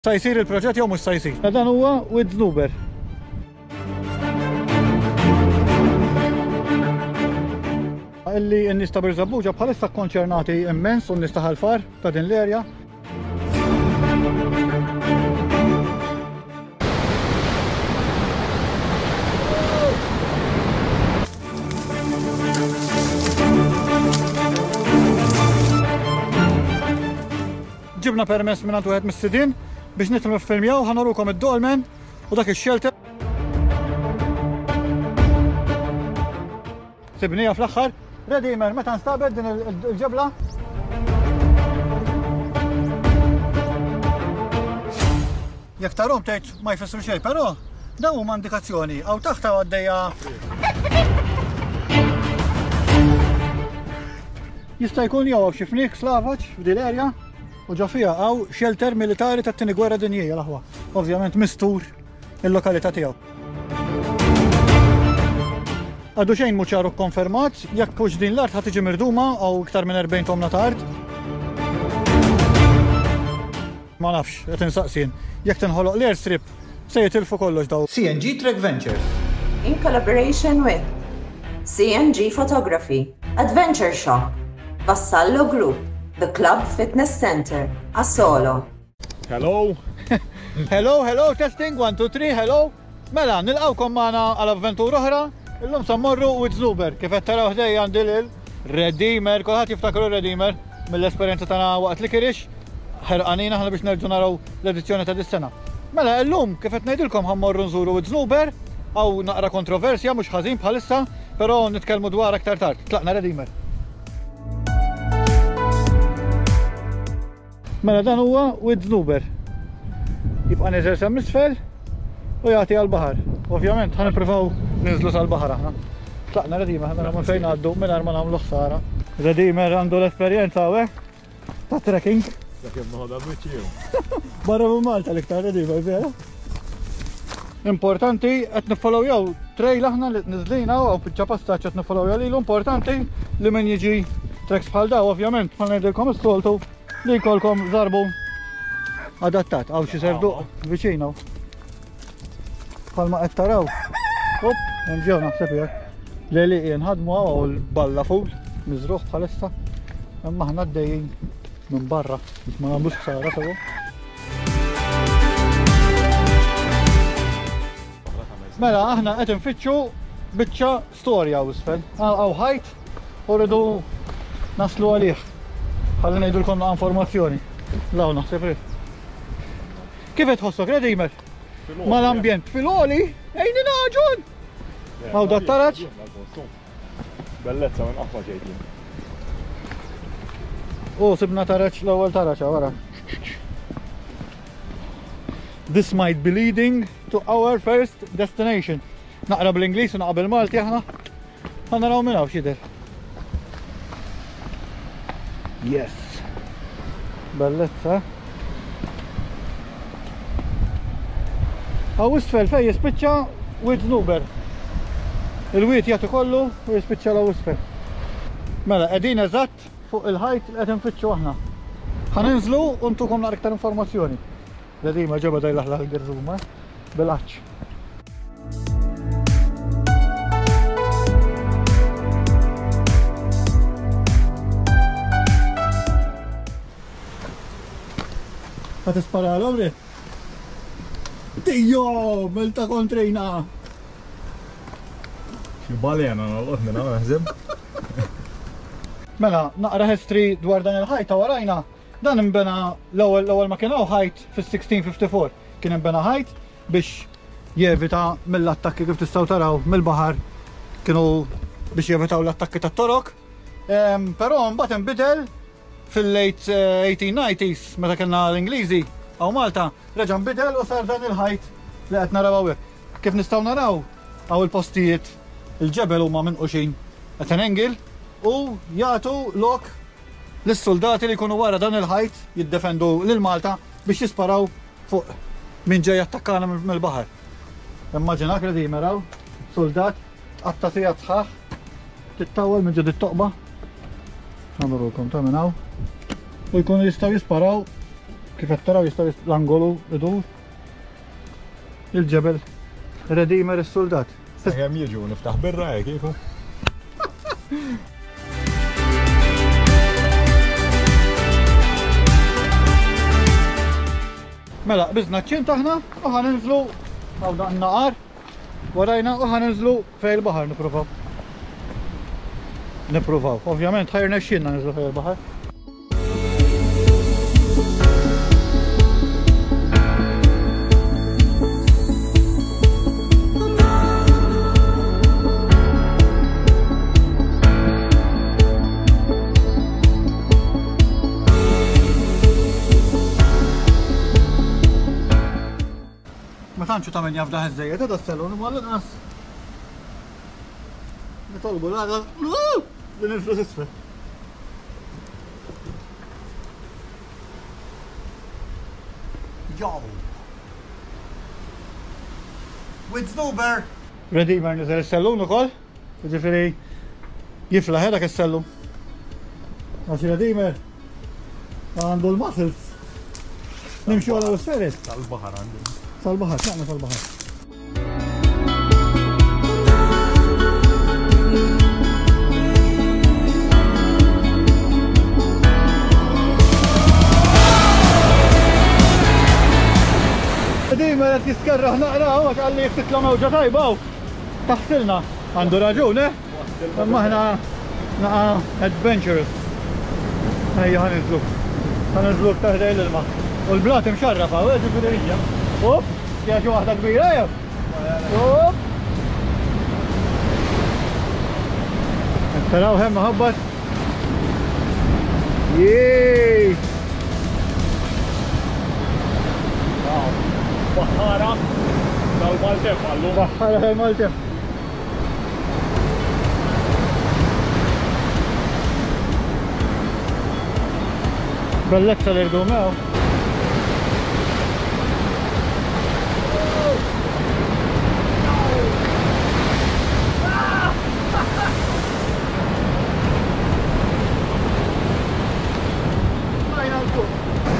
Sa jsir il-proġett jew mhux sa jsir. Dan huwa Wied Znuber. Illi n-nies ta' Birżebbuġa bħalissa kkonċernati immens u n-nies ta' Ħal Far ta' din l-erja. Ġibna permess mingħand wieħed mis-sidien biex nidħlu niffilmjaw, ħa nurukom id-dolmen u dak ix-shelter. Sibnija fl-aħħar. Redeemer, meta nstabet din il-ġebla? Jekk tarhom tgħid ma jfissru xejn, però dawn huma indikazzjoni. Hawn taħt hawn għaddejja Jista' jkun jew hawn xi fniek slavaġ f'din l-erja u ġo fiha hawn shelter militari tat-Tieni Gwerra Dinjija l-aħwa. Ovvjament mistur il-lokalità tiegħu. Għadu xejn mhu ċar u kkonfermat jekk hux din l-art ħa tiġi mirduma hawn iktar minn 40 tomna ta' art. Ma nafx, qed insaqsi jien. Jekk tinħoloq l-airstrip, se jitilfu kollox dawn. CNG Trek Ventures. In collaboration with CNG Photography, Adventure Shop, Vassallo Group, The Club Fitness Centre, Asolo. Hello! Hello, hello, testing, 1, 2, 3, hello! Mela, nilqgħukom magħna għal avventura oħra. Illum sa mmorru Wied Znuber. Kif qed taraw ħdejja għandi lil Redeemer, kulħadd jiftakru Redeemer mill-esperjenza tagħna waqt li kirix. Ħerqanin aħna biex nerġgħu naraw l-edizzjoni ta' dis-sena. Mela, illum kif qed ngħidilkom ħa mmorru nżuru Wied Znuber, hawn naqra kontroversja mhux ħażin bħalissa, però nitkellmu dwar aktar tard. Tlaqna Redeemer. Mela dan huwa Wied Znuber. Jibqa' nieżel sa misfel u jagħti għall-baħar. Ovvjament ħa nippruvaw ninżlu sal-baħar aħna. Tlaqna Redeemer ħa naraw minn fejn ngħaddu mingħajr ma nagħmlu ħsara. Redeemer għandu l-esperjenza hawnhekk ta' trekking. Sakemm noħodha biċċi jew. Barra minn Malta l-iktar Redeemer vera. Importanti qed niffollowjaw trail aħna li niżlin hawn hawn biċċa passaġġ qed niffollowjaw lilu importanti li min jiġi tracks bħal daw ovvjament bħal ngħidilkom is-soltu li jkollkom żarbu adattat hawn xi serduq viċin hawn. Bħalma qed taraw. Op, hemm ġew naħseb jekk. L-għelieqi nħadmu hawn l-balla ful miżruħ bħalissa. Imma aħna għaddejjin minn barra biex ma nagħmlux ħsara sewwa. Mela, aħna qed infittxu biċċa storja u isfel. Għaw ħajt u rridu naslu għalih. Ħalli ngħidulkom naqa' informazzjoni. Law naħseb rid. Kif qed tħossok, Redimer? Mal-ambjent fil-għoli, ejni naġun! Għaw dat taraġ? Bellezza minn qatt ma ġejt jien. U sibna taraġ l-ewwel taraġ wara. This might be leading to our first destination. Naqra bl-Ingliż u naqra bil-Malti aħna. Ħa naraw minn hawn x'jidher. Yes. Bellezza. Hawn isfel fejn jispiċċa Wied Znuber. Il-wied jagħti kollu u jispiċċa l isfel. Mela, qegħdin eżatt fuq il-ħajt li qed infittxu aħna. Ħa ninżlu u ntukom naqra iktar informazzjoni. Ledima ġeba daj laħla l-gerżuma bil-għatx. Ħa tisparalhom ri? Tijjo, milta kontrina! Xi balena nolqot minn hawn naħseb. Mela, naqra history dwar dan il-ħajta warajna. Dan imbena l-ewwel l-ewwel ma kien hawn ħajt fis-1654. Kien imbena ħajt biex jevita mill-attakki kif tistgħu taraw mill-baħar kienu biex jevitaw l-attakki tat-Torok. Però mbagħad inbidel Fil-late 1890s, meta kellna l-Ingliżi hawn Malta, reġa' nbidel u sar dan il-ħajt li qed naraw hawnhekk. Kif nistgħu naraw, hawn il-postijiet il-ġebel huma minquxin at an angle u jagħtu lok lis-suldati li jkunu wara dan il-ħajt jiddefendu lil Malta biex jisparaw fuq min ġej jattakkana mill-baħar. Immaġinak li meraw suldat Tqatta' sigħat sħaħ tittawwal minn ġo dit-toqba. Ħa nurukom ta' minn hawn. U jkunu jistgħu jisparaw Kif qed taraw jista' l-angolu idur. Il-ġebel Redeemer is-suldat. Sakemm jiġu niftaħ birra hekk kieku. Mela, qbiżna ċ-ċint aħna u ħa ninżlu hawn dan naqar warajna u ħa ninżlu fejn il-baħar nippruvaw. Nippruvaw. Ovvjament ħa jirnexxielna ninżlu fejn il-baħar. Ma tantx ta' min jafdah iżżejjed, da s-salon, imma l-inqas nitolbu l-għada li ninżlu s'isfel. Jow! With Zuber! Redeemer niżel is-sellun ukoll, jiġifieri jiflaħ dak is-sellum. Għax Redeemer għandu l-muscles. Nimxu għal l-isferis. Sal-baħar għandu. Sal-baħar, tlaqna sal-baħar. Dejjem qed jiskerraħ naqra għax qalli jekk titla' mewġa tajba hawn taħsilna. Għandu raġun, eh? Imma aħna naqa' adventurous. Ejja ħa ninżlu. Ħa ninżlu iktar ħdejn l-ilma. U l-blat imxarraf hawn, eh, ġifieri hija. Up, fiha xi waħda kbira jew? Up. Taraw hemm ħabbat. Jej! Baħħara tal-Maltemp għallu. Baħħara tal-Maltemp. Bellezza l-irdumew.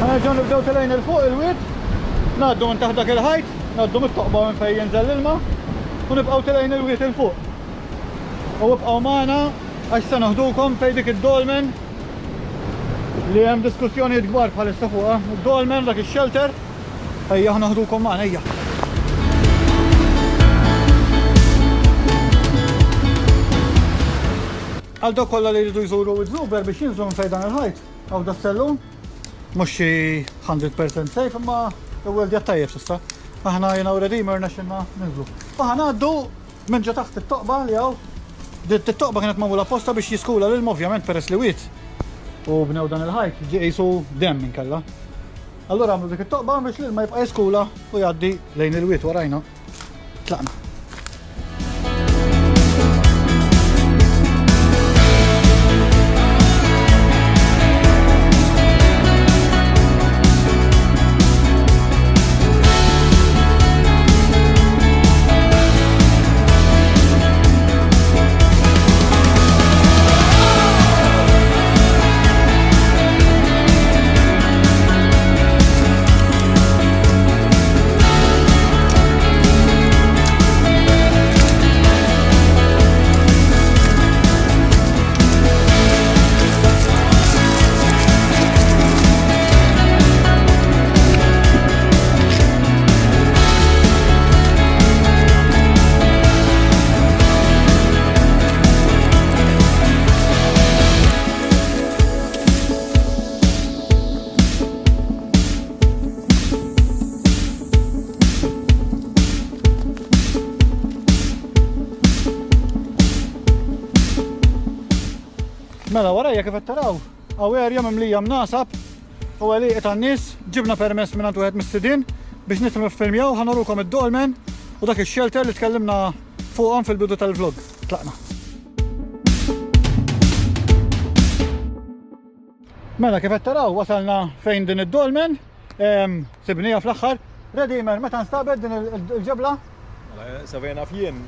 Ħanerġgħu nibdew telgħin il fuq il-wied, ngħaddu minn taħt dak il-ħajt, ngħaddu mit-toqba minn fejn jinżel l-ilma u nibqgħu telgħin il-wied il fuq. U ibqgħu magħna għax se noħdukom fejn dik id-dolmen li hemm diskussjonijiet kbar bħalissa fuqha. Id-dolmen dak ix-shelter, ejja ħa noħdukom magħna ejja. Għal dawk kollha li jridu jżuru Wied biex jinżlu minn fejn dan il-ħajt, hawn da sellum, mhux xi 100% safe imma iwweldja tajjeb s'issa. Aħna jiena u Redeemer rnexxilna ninżlu. U ħa ngħaddu minn ġo taħt it-toqba li hawn. Din it-toqba kienet magħmula apposta biex jiskula l-ilma ovvjament peress li wied u bnew dan il-ħajt ġie qisu demm inkella. Allura għamlu dik it-toqba biex l-ilma jibqa' jiskula u jgħaddi lejn il-wied warajna. Tlaqna. Mela warajja kif qed taraw, hawn area mimlija mnasab u għelieqi tan-nies, ġibna permess mingħand wieħed mis-sidien biex nidħlu niffilmjaw, ħa nurukom id-dolmen u dak ix-shelter li tkellimna fuqhom fil-bidu tal-vlog. Tlaqna. Mela kif qed taraw wasalna fejn din id-dolmen, sibnija fl-aħħar. Redeemer, meta nstabet din il-ġebla? Mela, sa fejn naf jien.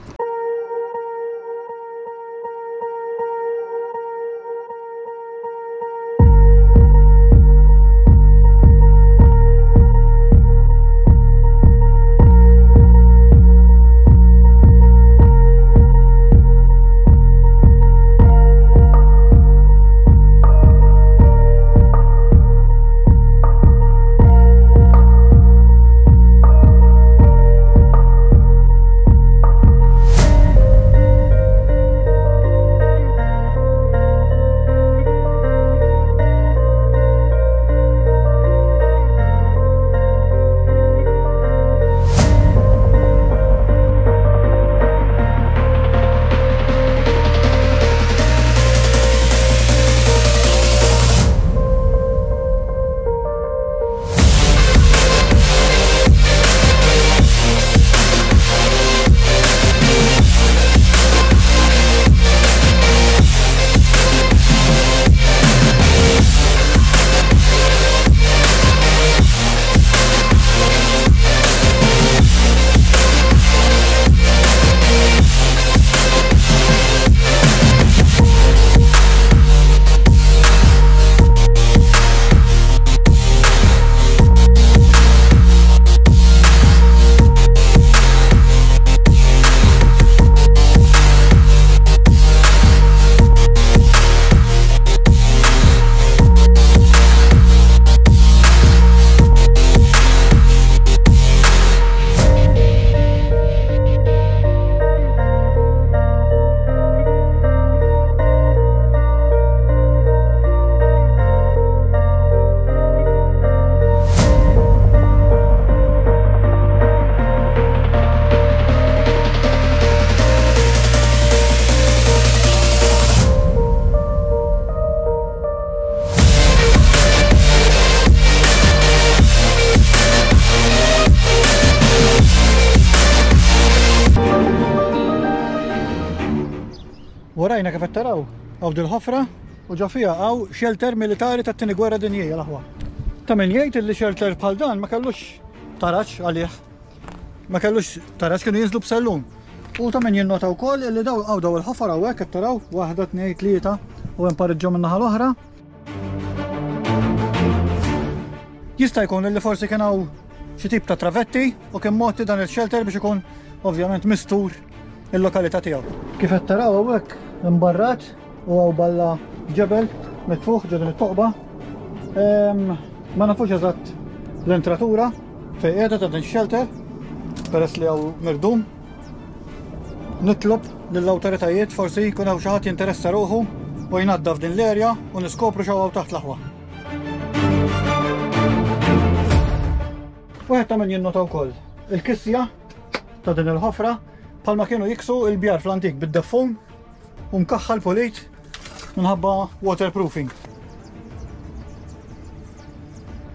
Warajna kif qed taraw hawn dil-ħofra u ġo fiha hawn shelter militari tat-Tieni Gwerra Dinjija l-aħwa. Ta' min jgħid illi shelter bħal dan ma kellux taraġ għalih. Ma kellux taraġ kienu jinżlu b'sellum. U ta' min jinnota wkoll illi daw hawn daw il-ħofor hawnhekk qed taraw waħda, tnejn, tlieta u hemm pariġġu min-naħa l-oħra. Jista' jkun li forsi kien hawn xi tip ta' travetti u kien mogħti dan il-shelter biex ikun ovvjament mistur il-lokalità tiegħu. Kif qed taraw hawnhekk imbarrat u hawn balla ġebel mitfuħ ġo din it-toqba. Ma nafux eżatt l-entratura fejn qiegħda ta' din shelter peress li hawn mirdum. Nitlob lill-awtoritajiet forsi jkun hawn xi ħadd jinteressa ruħu u jnaddaf din l-erja u niskopru x'hawn taħt l-aħwa. Wieħed ta' min jinnota wkoll il-kisja ta' din il-ħofra bħalma kienu jiksu il-bjar fl-antik bid-deffun u mkaħħal pulit minħabba waterproofing.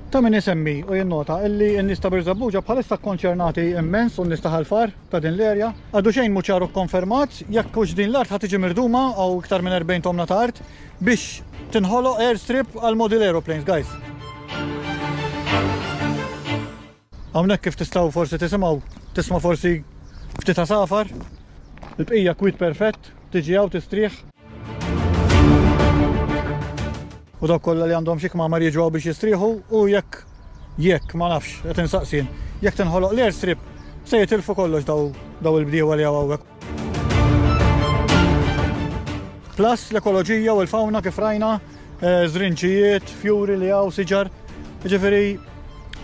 Ta' min isemmi u jinnota illi n-nies ta' Birżebbuġa bħalissa kkonċernati immens u n-nies ta' Ħal Far ta' din l-erja. Għadu xejn mhu ċar u kkonfermat jekk hux din l-art ħa tiġi mirduma hawn iktar minn 40 tomna ta' art biex tinħoloq airstrip għal model aeroplanes, guys. Hawnhekk kif tistgħu forsi tisimgħu, tisma' forsi ftit għasafar. Il-bqija kwiet perfett, tiġi hawn tistrieħ. U dawk kollha li għandhom xi kmamar jiġu hawn biex jistrieħu u jekk jekk ma nafx qed insaqsi jien, jekk tinħoloq l-airstrip se jitilfu kollox daw daw il-bdiewa li hawn hawnhekk. Plus l-ekoloġija u l-fawna kif rajna, eh, żrinċijiet, fjuri li hawn, siġar. Ġifieri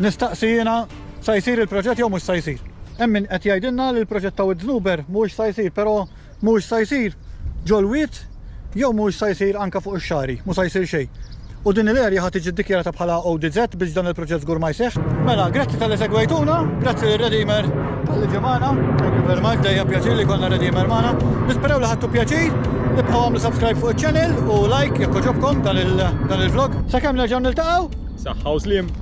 nistaqsi jiena sa jsir il-proġett jew mhux sa jsir. Hemm min qed jgħidilna li l-proġett ta' Wied mhuwiex sa jsir, però Mhuwiex sa jsir ġol-wied jew mhuwiex sa jsir anke fuq ix-xagħri, mhu sa jsir xejn. U din il-area ħa tiġi ddikjarata bħala ODZ biex dan il-proġett żgur ma jseħħ. Mela, grazzi talli segwejtuna, grazzi lil Redeemer talli ġie magħna, thank you very much, dejjem pjaċir li jkollna Redeemer magħna. Nisperaw li ħadtu pjaċir, ibqgħu għamlu subscribe fuq iċ-channel u like jekk għoġobkom dan il-vlog. Sakemm nerġgħu niltaqgħu. Saħħa u sliem.